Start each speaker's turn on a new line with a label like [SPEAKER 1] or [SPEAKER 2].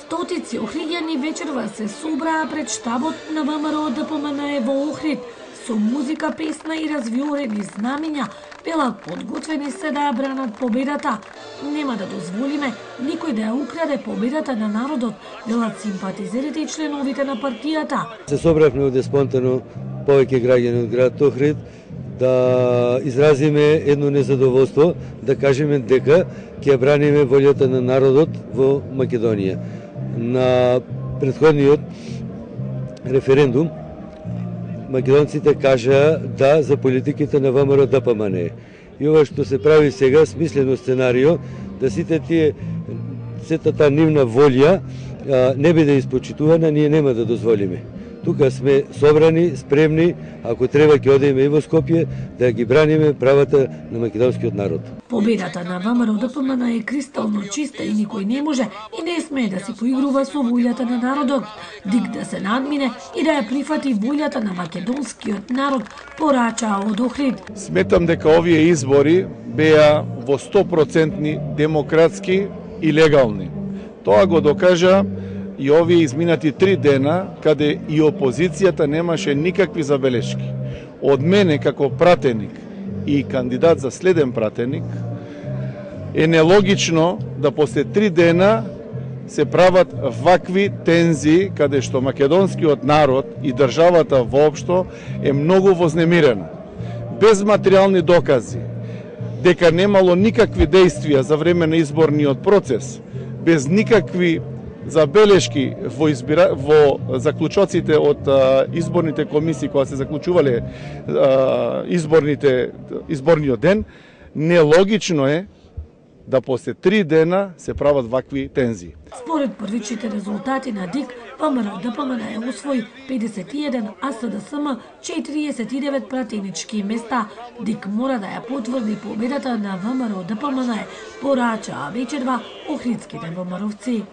[SPEAKER 1] Стотици охриѓани вечерва се собраа пред штабот на ВМРО ДПМНЕ во Охрид со музика, песна и развиорени знамиња, велат подготвени се да ја бранат победата. Нема да дозволиме никој да ја украде победата на народот, велат симпатизерите и членовите на партијата.
[SPEAKER 2] Се собравме овде спонтано повеќе граѓани од град Охрид да изразиме едно незадоволство, да кажеме дека ќе браниме волјата на народот во Македонија. На претходниот референдум македонците кажаа да за политиките на ВМРО ДПМНЕ. И ова што се прави сега, смислено сценарио, да сета таа нивна волја не биде испочитувана, ние нема да дозволиме. Тука сме собрани, спремни, ако треба ќе одиме и во Скопје, да ги браниме правата на македонскиот народ.
[SPEAKER 1] Победата на ВМРО ДПМНЕ е кристално чиста и никој не може и не смее да се поигрува со волјата на народот, дик да се надмине и да ја прифати волјата на македонскиот народ, порачаа од Охрид.
[SPEAKER 3] Сметам дека овие избори беа во 100% демократски и легални. Тоа го докажа и овие изминати 3 дена, каде и опозицијата немаше никакви забелешки. Од мене како пратеник и кандидат за следен пратеник, е нелогично да после 3 дена се прават вакви тензии, каде што македонскиот народ и државата воопшто е многу вознемирена. Без материјални докази, дека немало никакви действија за време на изборниот процес, без никакви забелешки во заклучоците од изборните комисии кога се заклучувале изборниот ден, нелогично е да после 3 дена се прават вакви тензии.
[SPEAKER 1] Според првичните резултати на ДИК, ВМРО ДПМНЕ освои 51, а СДСМ 49 пратенички места. ДИК мора да ја потврди победата на ВМРО ДПМНЕ, порачаа вечерва охридските ВМРО-вци.